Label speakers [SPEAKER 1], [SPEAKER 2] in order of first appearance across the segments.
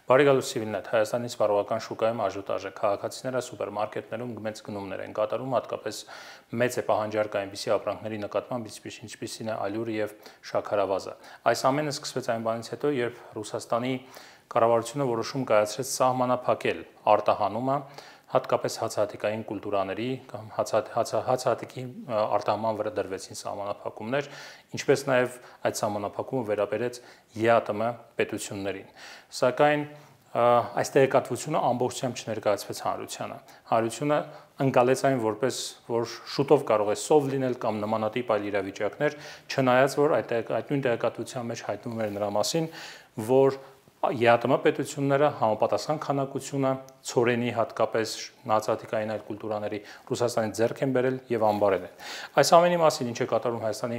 [SPEAKER 1] Բարեկալու Սիվիլնետ, Հայաստանի սպառողական շուկայում աժոտաժ է, քաղաքացիները սուպերմարկետներում մեծ գնումներ են կատարում, հատկապես մեծ է պահանջարկը այնպիսի ապրանքների նկատմամբ, ինչպիսին է ալյուրը եւ շաքարավազը։ Այս ամենը սկսվեց այն բանից հետո, երբ Ռուսաստանի կառավարությունը որոշում կայացրեց սահմանափակել արտահանումը, հատկապես հացահատիկային կուլտուրաների կամ հացահատիկի արտահանման վրա դրվեցին սահմանափակումներ, ինչպես նաև այդ սահմանափակումը վերաբերեց ԵԱՏՄ պետություններին։ Սակայն այս տեղեկատվությունը ամբողջությամբ չներկայացվեց հանրությանը։ Հանրությունը ընկալեց այն որպես որ շուտով կարող է սով լինել կամ նմանատիպ այլ իրավիճակներ, չնայած որ այդ նույն տեղեկատվության մեջ հայտնվում էր նրա մասին, որ ԵԱՏՄ պետությունները համապատասխան քանակությունը ցորենի հատկապես հացահատիկային այլ կուլտուրաների Ռուսաստանի ձեռք են բերել եւ ամբարել են։ Այս ամենի մասին ինչ է կատարում Հայաստանի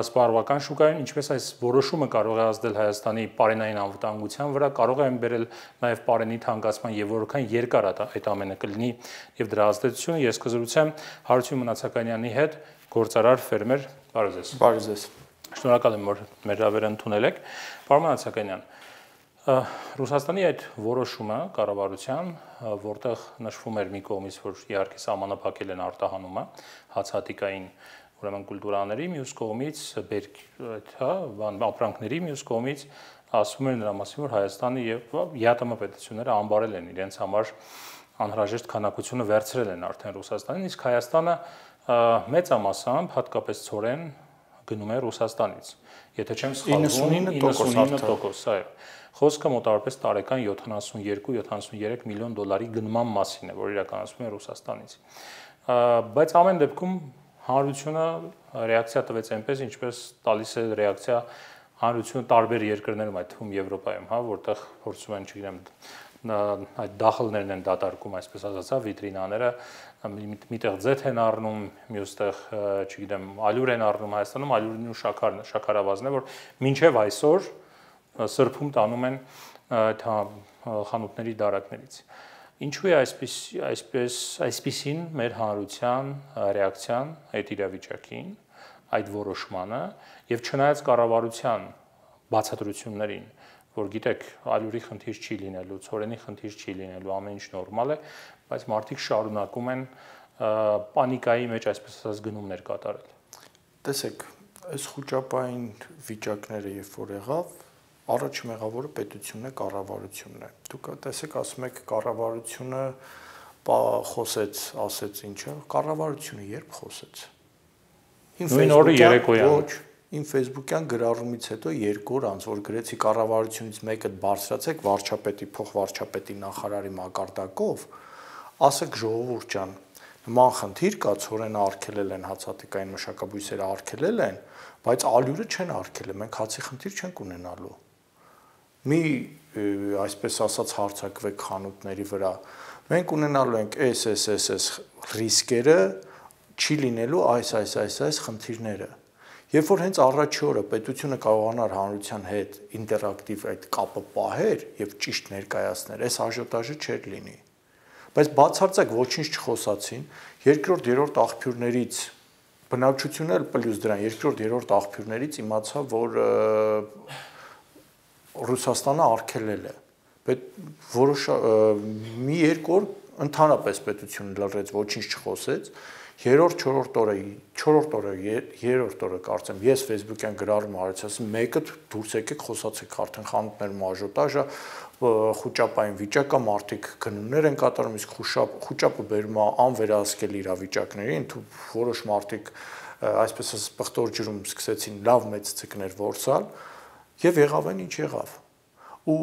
[SPEAKER 1] սպառողական շուկայում, ինչպես այս որոշումը կարող է ազդել Հայաստանի պարենային անվտանգության վրա, կարող է բերել նաեւ պարենի թանկացման եւ որքան երկար այդ ամենը կլինի եւ դրա ազդեցությունը ես կզրուցեմ Հարություն Մնացականյանի հետ, գործարար ֆերմեր, բարև ձեզ։
[SPEAKER 2] Բարև ձեզ։
[SPEAKER 1] Շնորհակալ եմ որ մեր հրավերը ընդունել եք։ Պարոն Մնացականյան, Ռուսաստանի այդ որոշումը կառավարության, որտեղ նշվում էր մի կողմից, որ իհարկե սահմանափակել են արտահանումը հացահատիկային ուրեմն կուլտուրաների, մյուս կողմից ապրանքների, մյուս կողմից ասում էր նրա մասին, որ Հայաստանը եւ ԵԱՏՄ պետությունները ամբարել են իրենց համար անհրաժեշտ քանակությունը վերցրել են արդեն Ռուսաստանին, իսկ Հայաստանը մեծամասամբ հատկապես ցորեն գնում է Ռուսաստանից։ Եթե չեմ սխալվում, 99%, այո։ Խոսքը մոտավորապես տարեկան 72-73 միլիոն դոլարի գնման մասին է, որ իրականացվում է Ռուսաստանից։ Բայց ամեն դեպքում հանրությունը ռեակցիա տվեց այնպես, ինչպես տալիս է ռեակցիա հանրությունը տարբեր երկրներում, այդ թվում Եվրոպայում, հա, որտեղ փորձում են, չգիտեմ, այդ դախլներն են դատարկում, այսպես ասած, վիտրինաները, միտեղ ձեթ են առնում, մյուստեղ, չգիտեմ, ալյուր են առնում Հայաստանում, ալյուրն ու շաքարավազն է, որ մինչև այսօր սրբում տանում են խանութների դարակներից։ Ինչու է այսպիսին մեր հանրության ռեակցիան այդ իրավիճակին, այդ որոշմանը եւ չնայած կառավարության բացատրություններին, որ գիտեք, ալյուրի խնդիր չի լինելու, ցորենի խնդիր չի լինելու, ամեն ինչ նորմալ է, բայց մարդիկ շարունակում են պանիկայի մեջ այսպես ասած գնումներ կատարել։
[SPEAKER 2] Տեսեք, այս խոճապային վիճակները երբ որ եղավ, առաջին մեղավորը պետությունն է, կառավարությունն է։ Դուք տեսեք, ասում եք կառավարությունը խոսեց, ասեց ինչը, կառավարությունը երբ խոսեց։
[SPEAKER 1] Նույն օրը երեկոյան։
[SPEAKER 2] Ոչ, իմ Facebook-յան գրառումից հետո 2 օր անց, որ գրեցի կառավարությունից մեկը բարձրացեք վարչապետի, փոխվարչապետի նախարարի մակարդակով, ասեք ժողովուրդ ջան, նման խնդիր կա, ցորենը արգելել են, հացահատիկային մշակաբույսերը արգելել են, բայց ալյուրը չեն արգելել, մենք հացի խնդիր չենք ունենալու։ Մի այսպես ասած հարցակվեք խանութների վրա։ Մենք ունենալու ենք այս ռիսկերը, չի լինելու այս խնդիրները։ Երբ որ հենց առաջի օրը պետությունը կարողանար հանրության հետ ինտերակտիվ այդ կապը պահեր եւ ճիշտ ներկայացներ, այս աժոտաժը չէր լինի։ Բայց բացարձակ ոչինչ չխոսացին, երկրորդ, երրորդ աղբյուրներից բնակչությունն էլ պլյուս դրան, երկրորդ, երրորդ աղբյուրներից իմացա, որ Ռուսաստանը արգելել է։ Մի երկու օր ընդհանրապես պետությունը լռեց, ոչինչ չխոսեց։ Երրորդ օրը կարծեմ ես Facebook-յան գրառում արեցի, ասում մեկը դուրս եկեք խոսացեք, արդեն խանութներում աժոտաժը, խոճապային վիճակ կա, մարդիկ գնումներ են կատարում, իսկ խոճապը բերում է անվերահսկելի իրավիճակներին, որոշ մարդիկ այսպես ասած պղտոր ջրում սկսեցին լավ մեծ ցիկներ որսալ եւ եղավ այն ինչ եղավ։ Ու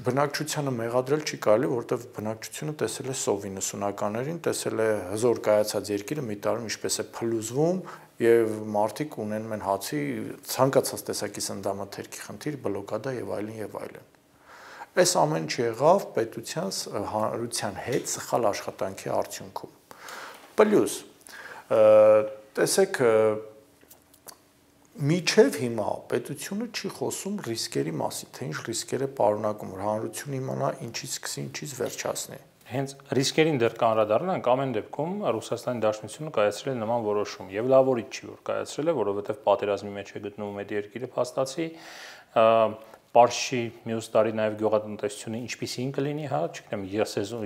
[SPEAKER 2] բնակչությանը մեղադրել չի կարելի, որովհետև բնակչությունը տեսել է սով 90-ականներին, տեսել է հզոր կայացած երկիրը մի տարում ինչպես է փլուզվում եւ մարդիկ ունենում են հացի ցանկացած տեսակի սննդամթերքի խնդիր, բլոկադա եւ այլն եւ այլն։ Այս ամեն ինչ եղավ պետության հանրության հետ սխալ աշխատանքի արդյունքում։ Պլյուս տեսեք Միջև հիմա պետությունը չի խոսում ռիսկերի մասին, թե ինչ ռիսկեր է պարունակում, որ հանրությունը իմանա ինչից սկսի, ինչից վերջացնի։
[SPEAKER 1] Հենց ռիսկերին դեռ կանդրադառնանք, ամեն դեպքում Ռուսաստանի Դաշնությունը կայացրել է նման որոշում եւ լավորից չի որ կայացրել է, որովհետեւ պատերազմի մեջ է գտնվում այդ երկիրը փաստացի, Պարշի մյուս տարի նաև գյուղատնտեսությունը ինչպիսին կլինի, հա, չգիտեմ,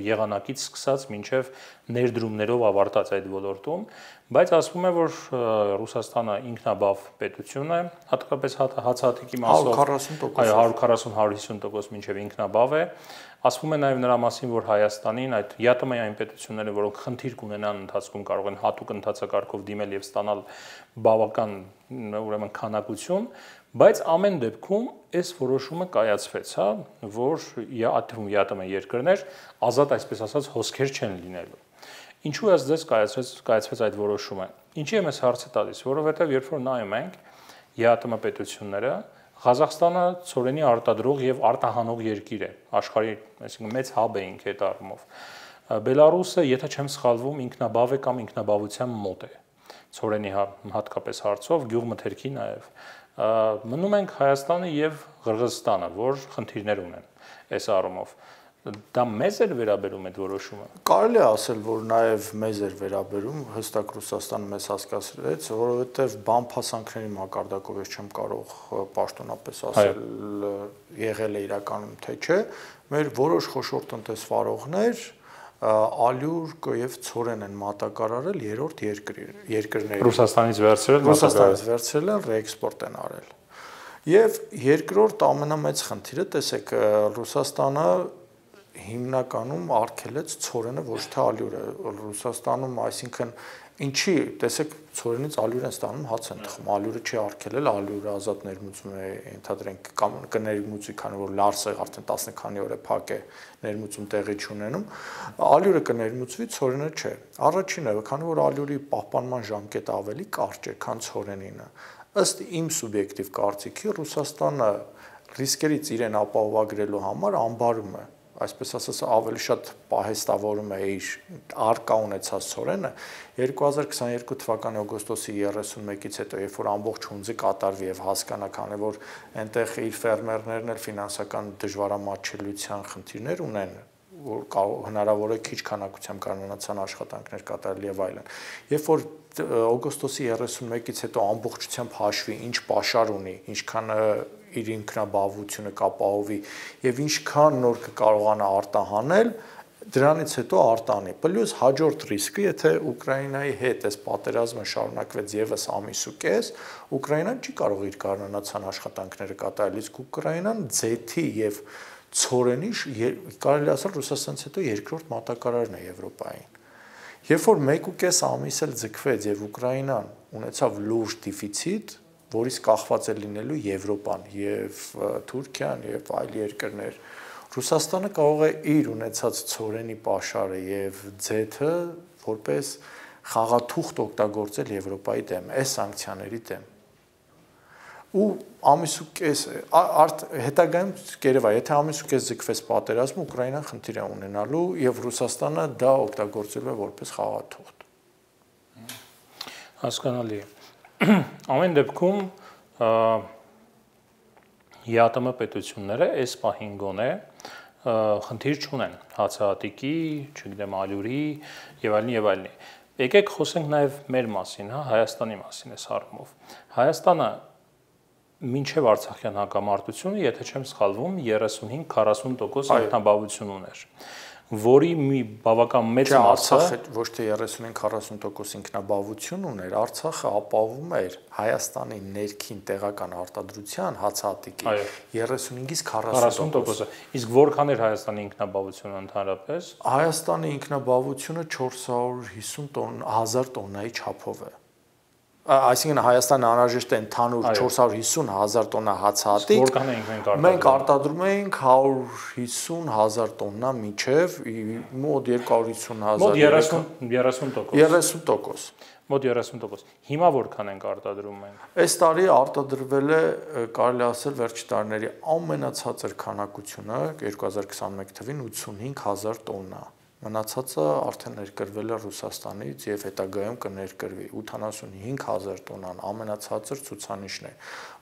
[SPEAKER 1] եղանակից սկսած մինչև ներդրումներով ավարտած այդ ոլորտում, բայց ասվում է, որ Ռուսաստանը ինքնաբավ պետություն է, հատկապես հացահատիկի մասով 140-150% մինչև ինքնաբավ է։ Ասվում է նաև նրա մասին, որ Հայաստանին այդ ԵԱՏՄ-ային պետությունները, որոնք խնդիր կունենան ընթացքում, կարող են հատուկ ընթացակարգով դիմել եւ ստանալ բավական ուրեմն քանակություն, բայց ամեն դեպքում այս որոշումը կայացվեց, հա, որ ԱԹՎ երկրներ ազատ, այսպես ասած, հոսքեր չեն լինելու։ Ինչու է ձեզ կայացվեց այդ որոշումը։ Ինչի եմ ես հարցը տալիս, որովհետեւ երբ որ նայում ենք ԵԱՏՄ պետությունները, Ղազախստանը ցորենի արտադրող եւ արտահանող երկիր է աշխարհի, այսինքն մեծ հաբ է ինքը այդ առումով։ Բելարուսը, եթե չեմ սխալվում, ինքնաբավ է կամ ինքնաբավության մոտ է։ Ցորենի հատկապես հարցով, գյուղմթերքի նաեւ։ Մնում ենք Հայաստանը եւ Ղրղըզստանը, որ խնդիրներ ունեն այս առումով։ Դա մեզ էր վերաբերում այդ որոշումը։
[SPEAKER 2] Կարելի է ասել, որ նաև մեզ էր վերաբերում, հստակ Ռուսաստանը մեզ հասկացրեց, որովհետև բամփասանքների մակարդակով ես չեմ կարող պաշտոնապես ասել եղել է իրականում թե չէ, մեր որոշ խոշոր տնտեսվարողներ ալյուր եւ ցորեն են մատակարարել երրորդ երկրների։
[SPEAKER 1] Ռուսաստանից վերցրել
[SPEAKER 2] են, ռեէքսպորտ են արել։ Եվ երկրորդ ամենամեծ խնդիրը, տեսեք, Ռուսաստանը հիմնականում արգելեց ցորենը, ոչ թե ալյուրը։ Ռուսաստանում, այսինքն, ինչի, տեսեք, ցորենից ալյուր են ստանում, հաց են թխում, ալյուրը չի արգելել, ալյուրը ազատ ներմուծում է, ենթադրենք, կամ կներմուծի, քանի որ լարսը արդեն 10 քանի օր է փակ է, ներմուծում տեղի չունենում, ալյուրը կներմուծվի, ցորենը չէ։ Առաջինը, քանի որ ալյուրի պահպանման ժամկետը ավելի կարճ է, քան ցորենինը, ըստ իմ սուբյեկտիվ կարծիքի, Ռուսաստանը ռիսկերից իրեն ապահովագրելու համար ամբարում է, այսպես ասած, ավելի շատ պահեստավորում է իր արկա ունեցած ցորենը 2022 թվականի օգոստոսի 31-ից հետո, երբ որ ամբողջ հունձը կատարվի եւ հասկանա, քանի որ այնտեղ իր ֆերմերներն էլ ֆինանսական դժվարամատչելիության խնդիրներ ունեն, որ հնարավոր է քիչ քանակությամբ կանոնացան աշխատանքներ կատարել եւ այլն։ Երբ որ օգոստոսի 31-ից հետո ամբողջությամբ հաշվի ինչ պաշար ունի, ինչքան իր ինքնաբավությունը կապահովի եւ ինչքան նոր կկարողանա արտահանել, դրանից հետո արտանի։ Պլյուս հաջորդ ռիսկը, եթե Ուկրաինայի հետ այս պատերազմը շարունակվեց եւս ամիս ու կես, Ուկրաինան չի կարող իր կանոնացան աշխատանքները կատարել, իսկ Ուկրաինան ձեթի եւ ցորենի կարելի ասել Ռուսաստանից հետո երկրորդ մատակարարն է Եվրոպային։ Երբ որ 1.5 ամիս էլ ձգվեց եւ Ուկրաինան ունեցավ լուրջ դեֆիցիտ, որից կախված է լինելու Եվրոպան եւ Թուրքիան եւ այլ երկրներ, Ռուսաստանը կարող է իր ունեցած ցորենի պաշարը եւ ձեթը որպես խաղաթուղթ օգտագործել Եվրոպայի դեմ, այս սանկցիաների դեմ։ Ու ամիս ու կես հետագայում կերևա, եթե ամիս ու կես ձգվեց պատերազմը, Ուկրաինան խնդիր է ունենալու եւ Ռուսաստանը դա օգտագործելու է որպես խաղաթուղթ։
[SPEAKER 1] Հասկանալի է։ Ամեն դեպքում ԵԱՏՄ պետությունները այս պահին գոնե խնդիր չունեն հացահատիկի, չգիտեմ, ալյուրի եւ այլն եւ այլն։ Եկեք խոսենք նաեւ մեր մասին, հա, Հայաստանի մասին այս առումով։ Հայաստանը մինչև Արցախյան հակամարտությունը, եթե չեմ սխալվում, 35-40% ինքնաբավություն ուներ, որի մի բավական մեծ մասը
[SPEAKER 2] Արցախը ոչ թե 35-40% ինքնաբավություն ուներ, Արցախը ապահովում էր Հայաստանի ներքին տեղական արտադրության հացահատիկի 35-ից 40%։
[SPEAKER 1] Իսկ որքան էր Հայաստանի ինքնաբավությունը ընդհանրապես։
[SPEAKER 2] Հայաստանի ինքնաբավությունը 450.000 տոննայի չափով է։ Այսինքն Հայաստանը անհրաժեշտ է ընդհանուր 450.000 տոննա հացահատիկ։
[SPEAKER 1] Որքան էինք
[SPEAKER 2] մենք արտադրում էինք 150.000 տոննա միջև մոտ 250.000 30%։
[SPEAKER 1] Մոտ 30%։ Հիմա որքան ենք արտադրում մենք։
[SPEAKER 2] Այս տարի արտադրվել է, կարելի ասել, վերջի տարիների ամենացածր քանակությունը 2021 թվին 85.000 տոննա։ Մնացածը արդեն ներկրվել է Ռուսաստանից եւ հետագայում կներկրվի 85.000 տոննան ամենացածր ցուցանիշն է։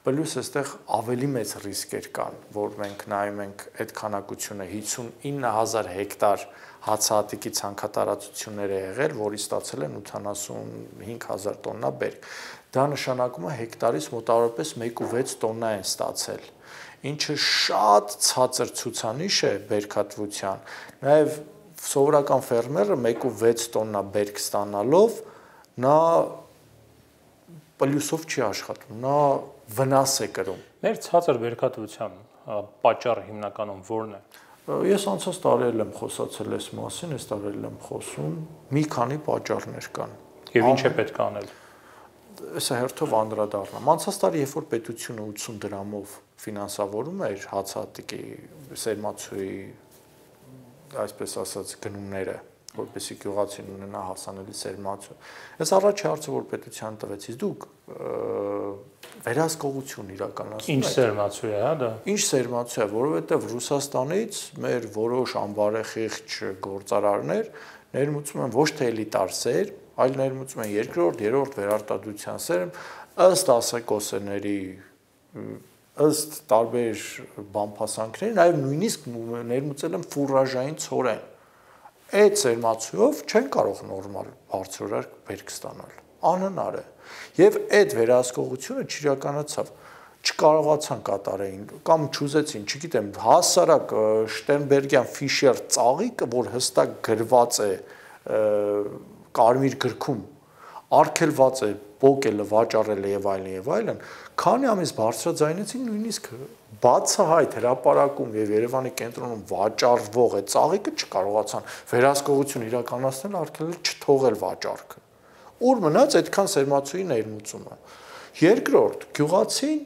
[SPEAKER 2] Պլյուս այստեղ ավելի մեծ ռիսկեր կան, որ մենք նայում ենք այդ քանակությունը 59.000 հեկտար հացահատիկի ցանքատարածություններ է եղել, որի ստացել են 85.000 տոննա բերք։ Դա նշանակում է հեկտարից մոտավորապես 1.6 տոննա են ստացել։ ինչը շատ ցածր ցուցանիշ է բերքատվության։ Նաև սովորական ֆերմերը 1.6 տոննա բերք ստանալով նա պլյուսով չի աշխատում, նա վնաս է կրում։
[SPEAKER 1] Մեր ցածր բերքատվության պատճառը հիմնականում որն է։
[SPEAKER 2] Ես անցած տարի եմ խոսացել այս մասին, այս տարի եմ խոսում, մի քանի պատճառներ կան։
[SPEAKER 1] Եվ ինչ է պետք անել։
[SPEAKER 2] Սա հերթով անդրադառնամ։ Անցած տարի, երբ որ պետությունը 80 դրամով ֆինանսավորում էր հացահատիկի սերմացուի, այսպես ասած, գնումները, որպեսզի գյուղացին ունենա հասանելի սերմացու։ Այս առաջի հարցը, որ պետության տվեցից, դուք վերահսկողություն իրականացնում եք։
[SPEAKER 1] Ինչ սերմացու է, հա դա։
[SPEAKER 2] Ինչ սերմացու է, որովհետև Ռուսաստանից մեր որոշ անբարեխիղճ գործարարներ ներմուծում են ոչ թե էլիտար սեր, այլ ներմուծում են երկրորդ, երրորդ վերարտադրության սերմ, ըստ ասեկոսների, ըստ տարբեր բամփասանքների, նաև նույնիսկ ներմուծել են ֆուրաժային ցորեն։ Այդ սերմացուով չեն կարող նորմալ բարձրորակ բերք ստանալ։ Անհնար է։ Եվ այդ վերահսկողությունը չիրականացավ, չկարողացան կատարեին կամ չուզեցին, չգիտեմ, հասարակ Շտերնբերգյան Ֆիշեր ծաղիկը, որ հստակ գրված է կարմիր գրքում, արգելված է, պոկելը, վաճառելը եւ այլն, քանի ամիս բարձրաձայնեցին նույնիսկ բացահայտ հրապարակում եւ Երևանի կենտրոնում վաճառվող է ծաղիկը չկարողացան վերահսկողություն իրականացնել, արգելել չթողել վաճառքը։ Ուր մնաց այդքան սերմացուի ներմուծումը։ Երկրորդ, գյուղացին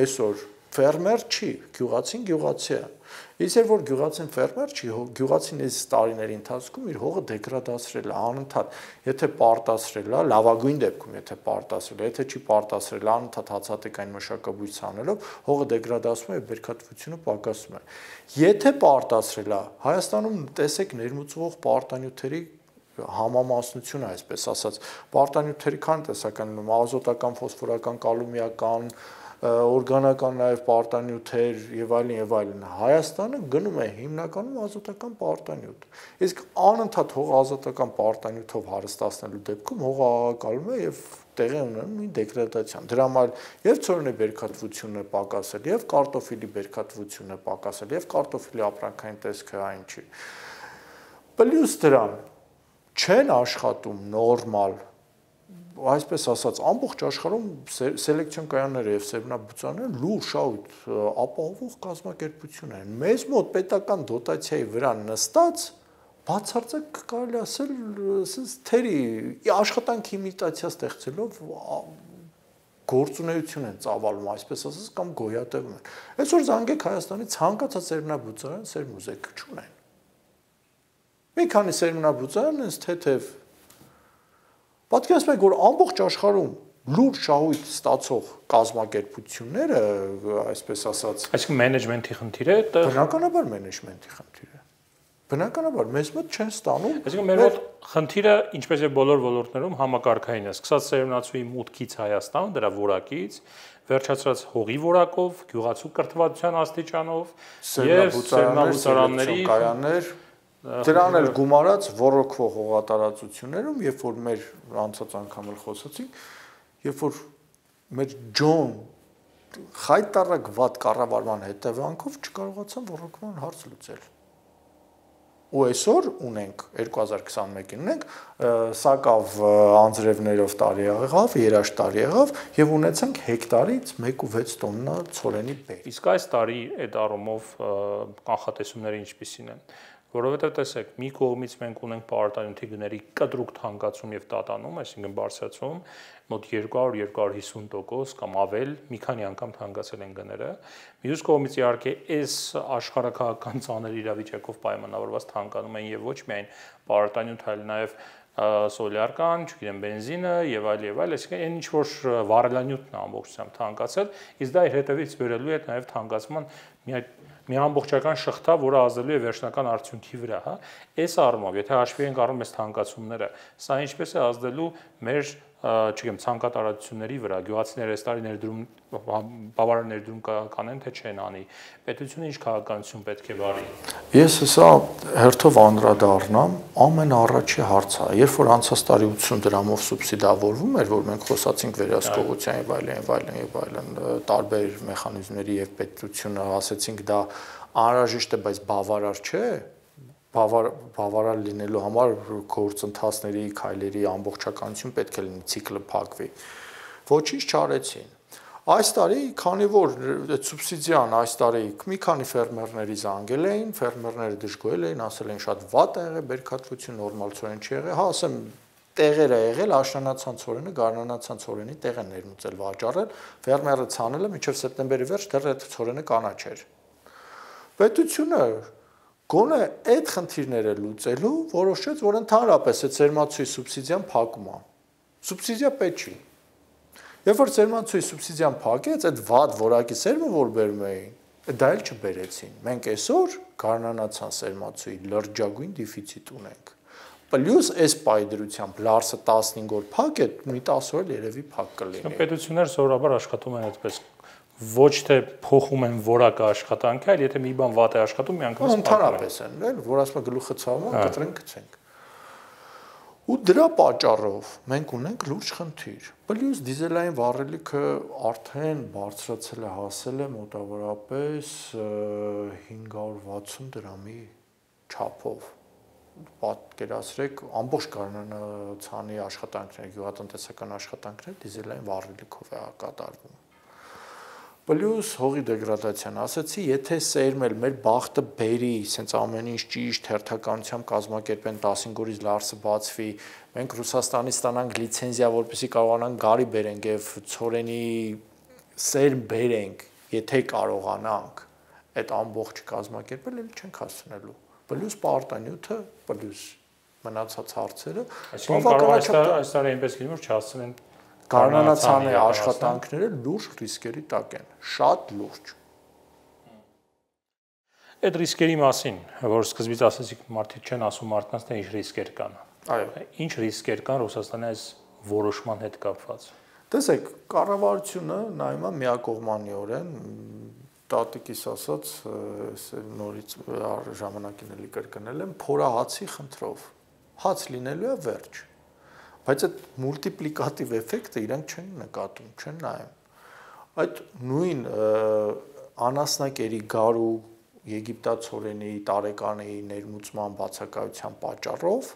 [SPEAKER 2] այսօր ֆերմեր չի, գյուղացին գյուղացի է։ Իսկ որ գյուղացին ֆերմեր չի, գյուղացին այս տարիների ընթացքում իր հողը դեգրադացրել է անընդհատ, եթե պարտացրել է, լավագույն դեպքում եթե պարտացրել է, եթե չի պարտացրել, անընդհատ հացահատիկային մշակաբույս անելով, հողը դեգրադացվում է եւ բերքատվությունը պակասում է։ Եթե պարտացրել է, Հայաստանում տեսեք ներմուծվող պարտանյութերի համամասնությունը, այսպես ասած, պարտանյութերի քան տեսական ազոտական, ֆոսֆորական, կալումիական, օրգանական նաև պարտանյութեր եւ այլն, Հայաստանը գնում է հիմնականում ազոտական պարտանյութ։ Իսկ անընդհատ հողը ազոտական պարտանյութով հարստացնելու դեպքում հողը աղակալում է եւ տեղի ունենում նույն դեգրադացիան։ Դրա համար եւ ցորենի բերքատվությունն է պակասել, եւ կարտոֆիլի բերքատվությունն է պակասել, եւ կարտոֆիլի ապրանքային տեսքը այն չի։ Պլյուս դրան չեն աշխատում նորմալ, այսպես ասած, ամբողջ աշխարհում սելեկցիոն կայանները եւ սերմնաբուծաները լուրջ շահույթ ապահովող կազմակերպություն են։ Մեզ մոտ պետական դոտացիայի վրա նստած բացարձակ կարելի ասել թերի աշխատանքի իմիտացիա ստեղծելով գործունեություն են ծավալում, այսպես ասած, կամ գոյատևում են։ Այսօր զանգեք Հայաստանի ցանկացած սերմնաբուծարան սերմուզեկ չունեն։ Մի քանի սերմնաբուծարան են թեթև պատկերացնեք, որ ամբողջ աշխարհում լուրջ շահույթ ստացող կազմակերպությունները, այսպես ասած,
[SPEAKER 1] այսինքն մենեջմենթի խնդիր է,
[SPEAKER 2] բնականաբար մենեջմենթի խնդիր է։ Բնականաբար մեզ մոտ չեն ստանում։
[SPEAKER 1] Այսինքն մեր մոտ խնդիրը, ինչպես եւ բոլոր ոլորտներում, համակարգային է, սկսած սերմնացուի մուտքից Հայաստան, դրա որակից, վերջացրած հողի որակով, գյուղացու կրթվածության աստիճանով եւ սերմնաբուծարանների
[SPEAKER 2] կայաններ, դրան էլ գումարած ռոռոկվող հողատարածություններում, երբ որ մեր անցած անգամ էլ խոսացինք, երբ որ մեր ջոն խայտարակ վատ կառավարման հետևանքով չկարողացան ռոռոկման հարց լուծել։ Ու այսօր ունենք 2021-ին ունենք սակավ անձրևներով տարի եղավ, երաշտ տարի եղավ եւ ունեցանք հեկտարից 1.6 տոննա ցորենի բեր։
[SPEAKER 1] Իսկ այս տարի այդ առումով կանխատեսումները ինչպիսին են։ Որովհետև տեսեք, մի կողմից մենք ունենք պարտանյութի գների կտրուկ թանկացում եւ տատանում, այսինքն բարձրացում, մոտ 200-250% կամ ավել, մի քանի անգամ թանկացել են գները։ Մյուս կողմից իհարկե այս աշխարհակահաղական ծանր իրավիճակով պայմանավորված թանկանում են եւ ոչ միայն պարտանյութ, այլ նաեւ սոլյար-կան, չգիտեմ, բենզինը եւ այլ, այսինքն այն ինչ որ վառելանյութն է ամբողջությամբ թանկացել, իսկ դա իր հետևից բերելու է նաեւ թանկացման մի ամբողջական շղթա, որը ազդելու է վերջնական արդյունքի վրա, հա։ Այս առումով, եթե հաշվի ենք առնում այս թանկացումները, սա ինչպես է ազդելու մեր չգիտեմ, ցանկատարությունների վրա գյուղացիները այս տարի ներդրում բավարար ներդրում կանեն, թե չեն անի։ Պետությունը ինչ քաղաքականություն պետք է վարի։
[SPEAKER 2] Ես հեսա հերթով անդրադառնամ, ամենաառաջի հարցը, երբ որ անցած տարի 80 դրամով սուբսիդավորվում էր, որ մենք խոսացինք վերահսկողության եւ այլն, տարբեր մեխանիզմների եւ պետությունը ասեցինք դա անհրաժեշտ է, բայց բավարար չէ, բավարար լինելու համար գործընթացների, քայլերի ամբողջականություն պետք է լինի, ցիկլը փակվի։ Ոչինչ չարեցին։ Այս տարի, քանի որ այդ սուբսիդիան այս տարի մի քանի ֆերմերների զանգել էին, ֆերմերները դժգոհել էին, ասել են շատ վատ է եղել, բերքատվություն նորմալցորեն չի եղել, հա, ասեմ տեղեր է եղել, աշնանացան ցորենը, գարնանացան ցորենի տեղ են ներմուծել վաճառել, ֆերմերը ցանել է մինչև սեպտեմբերի վերջ դեռ այդ ցորենը կանաչ էր։ Պետությունը գոնե այդ խնդիրները լուծելու որոշեց, որ ընդհանրապես այդ սերմացուի սուբսիդիան փակում է։ Սուբսիդիա պետք չի։ Երբ որ սերմացուի սուբսիդիան փակեց, այդ վատ որակի սերմը որ բերում էին, դա էլ չբերեցին։ Մենք այսօր գարնանացան սերմացուի լրջագույն դեֆիցիտ ունենք։ Պլյուս այս պայդրությամբ լարսը 15 օր փակ է, մի 10 օր երևի փակ կլինի։
[SPEAKER 1] Պետությունները սովորաբար աշխատում են այդպես, ոչ թե փոխում են որակը աշխատանքի, այլ եթե մի բան վատ է աշխատում, միանգամից
[SPEAKER 2] ընդհանրապես են, էլ որ ասում է գլուխը ցավում, կտրենք գցենք։ Ու դրա պատճառով մենք ունենք լուրջ խնդիր։ Պլյուս դիզելային վառելիքը արդեն բարձրացել է, հասել է մոտավորապես 560 դրամի չափով։ Պատկերացրեք, ամբողջ գարնանացանի աշխատանքները, գյուղատնտեսական աշխատանքները դիզելային վառելիքով է կատարվում։ Պլյուս հողի դեգրադացիան, ասացի, եթե սերմել մեր բախտը բերի, սենց ամեն ինչ ճիշտ հերթականությամբ կազմակերպեն 15 օրից լարսը բացվի, մենք Ռուսաստանից ստանանք լիցենզիա, որպեսզի կարողանանք գարի բերենք եւ ցորենի սերմ բերենք, եթե կարողանանք այդ ամբողջը կազմակերպել, էլ չենք հասցնելու։ Պլյուս պարտանյութը, պլյուս մնացած հարցերը,
[SPEAKER 1] այս տարի այնպես լինում որ չհասցնեն
[SPEAKER 2] գարնանացանի աշխատանքները լուրջ ռիսկերի տակ են, շատ լուրջ։
[SPEAKER 1] Այդ ռիսկերի մասին, որ սկզբից ասեցիք, մարդիկ չեն ասում մարդկանց, թե ինչ ռիսկեր կան։
[SPEAKER 2] Այո։
[SPEAKER 1] Ինչ ռիսկեր կան Ռուսաստանի այս որոշման հետ կապված։
[SPEAKER 2] Տեսեք, կառավարությունը նայում է միակողմանիորեն, տատիկիս ասած, նորից ժամանակին էլի կրկնել եմ, փորահացի խնդրով։ Հաց լինելու է վերջ։ Բայց այդ մուլտիպլիկատիվ էֆեկտը իրանք չեն նկատում, չեն նայում։ Այդ նույն անասնակերի գարու եգիպտացորենի տարեկանի ներմուծման բացակայության պատճառով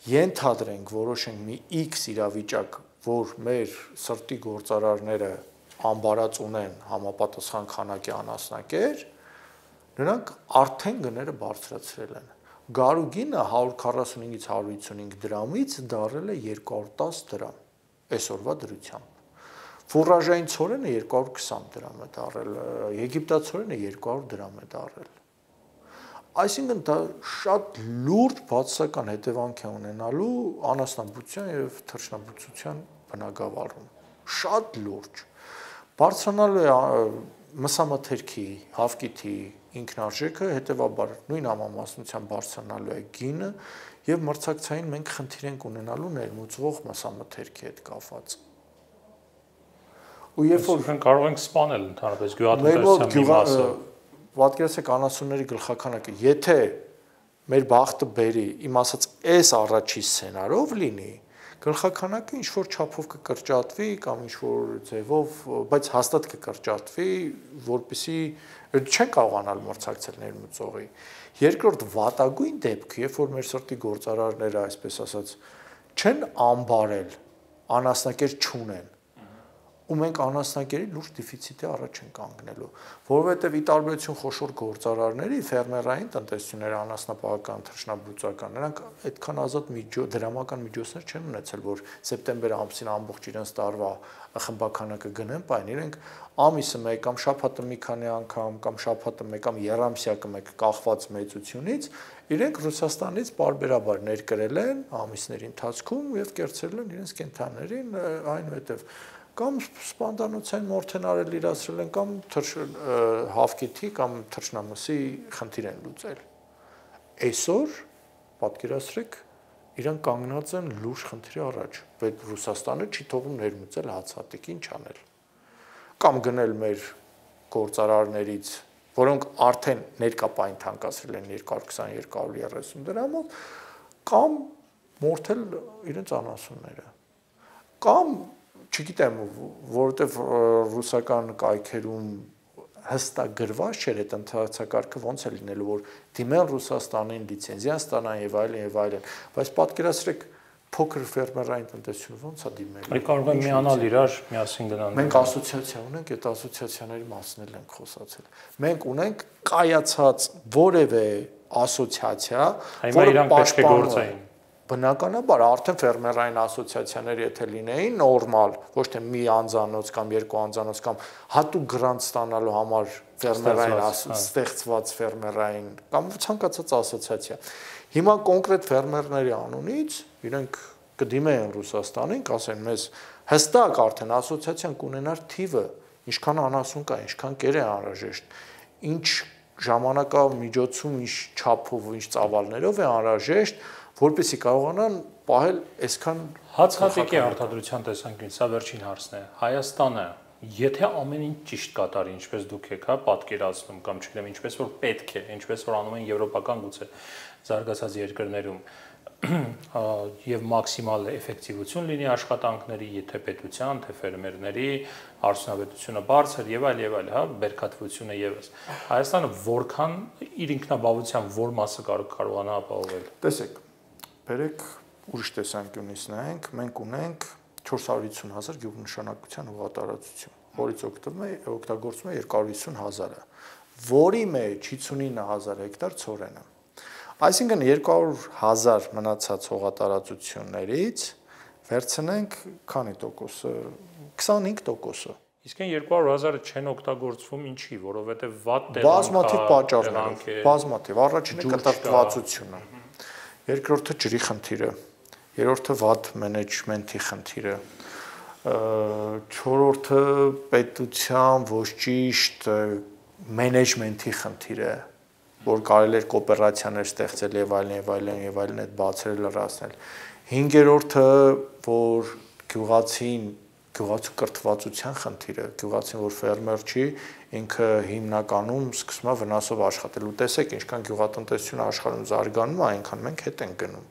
[SPEAKER 2] ենթադրենք որոշենք մի X իրավիճակ, որ մեր սրտի գործարարները ամբարած ունեն համապատասխան քանակի անասնակեր, նրանք արդեն գները բարձրացրել են։ Գարու գինը 145-ից 155 դրամից դարել է 210 դրամ այսօրվա դրությամբ։ Ֆուրաժային ցորենը 220 դրամ է դարել, եգիպտացորենը 200 դրամ է դարել։ Այսինքն դա շատ լուրջ բացասական հետևանք է ունենալու անասնաբուծության եւ թռչնաբուծության բնագավառում։ Շատ լուրջ։ Բարձրանալու է մսամաթերքի, հավկիթի ինքնարժեքը, հետևաբար նույն համամասնության բարձրանալու է գինը եւ մրցակցային մենք խնդիր ենք ունենալու ներմուծվող մսամաթերքի հետ կապված։ Ու երբ որ
[SPEAKER 1] կարող ենք սպանել ընդհանրապես գյուղատնտեսության մի մասը,
[SPEAKER 2] պատկերացրեք անասունների գլխականակը, եթե մեր բախտը բերի, իմ ասած այս առաջի սցենարով լինի, գլխականակը ինչ որ չափով կկրճատվի կամ ինչ որ ձևով, բայց հաստատ կկրճատվի, որպեսզի չեն կարողանալ մրցակցել ներմուծողի։ Երկրորդ վատագույն դեպքը, երբ որ մեր սրտի գործարարները, այսպես ասած, չեն ամբարել, անասնակեր չունեն, ու մենք անասնակերի լուրջ դեֆիցիտի առաջ են կանգնելու, որովհետև ի տարբերություն խոշոր գործարարների, ֆերմերային տնտեսությունների անասնապահական, թռչնաբուծական, նրանք այդքան ազատ դրամական միջոցներ չեն ունեցել, որ սեպտեմբեր ամսին ամբողջ իրենց տարվա խմբականակը գնեն, պայն իրենք ամիսը մեկ կամ շաբաթը մի քանի անգամ կամ շաբաթը մեկ կամ երամսյակը մեկ կախված մեծությունից իրենք Ռուսաստանից պարբերաբար ներկրել են ամիսների ընթացքում եւ կերծել են իրենց կենթանիներին, այնուհետեւ կամ սպանդանոցային մորթենարել իրացրել են կամ հավկիթի կամ թռչնամսի խնդիր են լուծել։ Այսօր պատկերացրեք Իրանք կանգնած են լուրջ խնդրի առաջ, բայց Ռուսաստանը չի թողում ներմուծել հացահատիկ, ինչ անել։ Կամ գնել մեր գործարարներից, որոնք արդեն ներկապային թանկացրել են 220-230 դրամով, կամ մորթել իրենց անասունները։ Կամ, չգիտեմ, որովհետև ռուսական կայքերում հստակ գրված չէր այդ ընթացակարգը ոնց է լինելու, որ դիմեն Ռուսաստանին, լիցենզիան ստանան եւ այլն, բայց պատկերացրեք փոքր ֆերմերային տնտեսությունը ոնց է դիմելու։
[SPEAKER 1] Մենք կարող ենք միանալ իրար, միասին գնալ։
[SPEAKER 2] Մենք ասոցիացիա ունենք, այդ ասոցիացիաների մասին էլ ենք խոսացել։ Մենք ունենք կայացած որևէ ասոցիացիա,
[SPEAKER 1] որը պաշտպանում է։
[SPEAKER 2] Բնականաբար արդեն ֆերմերային ասոցիացիաները եթե լինեին նորմալ, ոչ թե մի անձանոց կամ երկու անձանոց կամ հատուկ գրանտ ստանալու համար ֆերմերային ստեղծված ֆերմերային կամ ցանկացած ասոցիացիա։ Հիմա կոնկրետ ֆերմերների անունից իրենք կդիմեն Ռուսաստանին, կասեն մեզ հստակ արդեն ասոցիացիան կունենար թիվը, ինչքան անասուն կա, ինչքան կեր է անհրաժեշտ, ինչ ժամանակամիջոցում, ինչ չափով, ինչ ծավալներով է անհրաժեշտ, որպեսզի կարողանան պահել այսքան
[SPEAKER 1] հացահատիկի արտադրության տեսանկյունից, սա վերջին հարցն է։ Հայաստանը, եթե ամեն ինչ ճիշտ կատարի, ինչպես դուք եք, պատկերացնում կամ չգիտեմ, ինչպես որ պետք է, ինչպես որ անում են եվրոպական գուցե զարգացած երկրներում, եւ մաքսիմալ էֆեկտիվություն լինի աշխատանքների, եթե պետության, թե ֆերմերների, արդյունավետությունը բարձր եւ այլ, բերքատվությունը եւս։ Հայաստանը որքան իր ինքնաբավության որ մասը կարողանա ապահովել։
[SPEAKER 2] Տեսեք, բերեք ուրիշ տեսանկյունից նայենք, մենք ունենք 450,000 գյուղնշանակության հողատարածություն, որից օգտագործվում է 250,000-ը, որի մեջ 59,000 հեկտար ցորեն է։ Այսինքն 200,000 մնացած հողատարածություններից վերցնենք քանի տոկոսը, 25%-ը։
[SPEAKER 1] Իսկ այն 200,000-ը չեն օգտագործվում ինչի, որովհետեւ վատ
[SPEAKER 2] բազմաթիվ պատճառներով, բազմաթիվ, առաջինը կտրտվածությունը, երկրորդը ջրի խնդիրը, երրորդը վատ մենեջմենթի խնդիրը, չորրորդը պետության ոչ ճիշտ մենեջմենթի խնդիրը, որ կարելի էր կոոպերացիաներ ստեղծել եւ այլն այդ բացերը լրացնել։ Հինգերորդը, որ գյուղացու կրթվածության խնդիրը, գյուղացին որ ֆերմեր չի, ինքը հիմնականում սկսում է վնասով աշխատել։ Ու տեսեք, ինչքան գյուղատնտեսությունը աշխարհում զարգանում է, այնքան մենք հետ ենք գնում։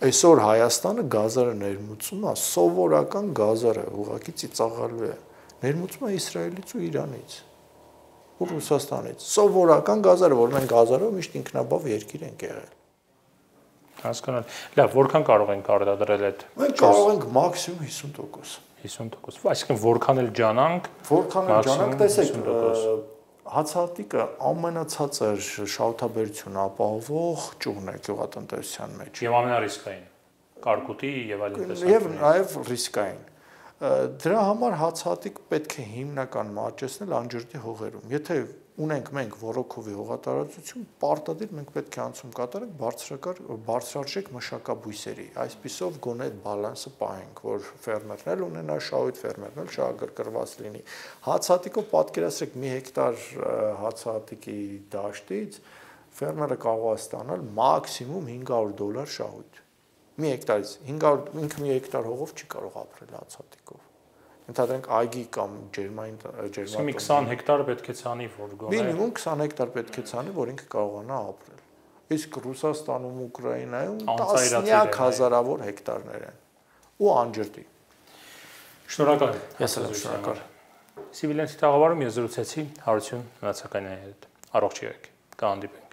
[SPEAKER 2] Այսօր Հայաստանը գազարը ներմուծում է, սովորական գազարը ուղղակի ծիծաղալու է։ Ներմուծում է Իսրայելից ու Իրանից։ Ու Ռուսաստանից սովորական գազարը, որ մենք գազարով միշտ ինքնաբավ երկիր ենք եղել։
[SPEAKER 1] Հասկանալ։ Լավ, որքան կարող ենք արտադրել այդ։
[SPEAKER 2] Մենք կարող ենք մաքսիմում 50%։
[SPEAKER 1] 50%։ Այսինքն որքան էլ ջանանք,
[SPEAKER 2] տեսեք, հացահատիկը ամենացածր շահութաբերություն ապահովող ճյուղն է գյուղատնտեսության մեջ։
[SPEAKER 1] Եվ ամենառիսկային։ Կարկուտի եւ այլն տեսակ։
[SPEAKER 2] Եվ նաեւ ռիսկային։ Դրա համար հացահատիկ պետք է հիմնական մարջեցնել անջրտի հողերում։ Եթե ունենք մենք ոռոգովի հողատարածություն, պարտադիր մենք պետք է անցում կատարենք բարձրարժեք մշակաբույսերի։ Այսպիսով գոնե այդ բալանսը պահենք, որ ֆերմերն էլ ունենա շահույթ, ֆերմերն էլ շահագրգռված լինի։ Հացահատիկով պատկերացրեք մի հեկտար հացահատիկի դաշտից ֆերմերը կարող է ստանալ մաքսիմում $500 շահույթ։ Մի հեկտարից 500 ինքը մի հեկտար հողով չի կարող ապրել հացահատիկով։ Ընդհանրենք այգի կամ ջերմային
[SPEAKER 1] մի 20 հեկտար պետք է ցանի, որ գոնե
[SPEAKER 2] մինիմում 20 հեկտար պետք է ցանի, որ ինքը կարողանա ապրել։ Իսկ Ռուսաստանում, Ուկրաինայում տասնյակ հազարավոր հեկտարներ են ու անջրտի։
[SPEAKER 1] Շնորհակալ եմ։
[SPEAKER 2] Ես էլ շնորհակալ։
[SPEAKER 1] Սիվիլյանցի տաղավարում ես զրուցեցի Հարություն Նացականյանի հետ։ Առողջ եղեք։ Կհանդիպենք։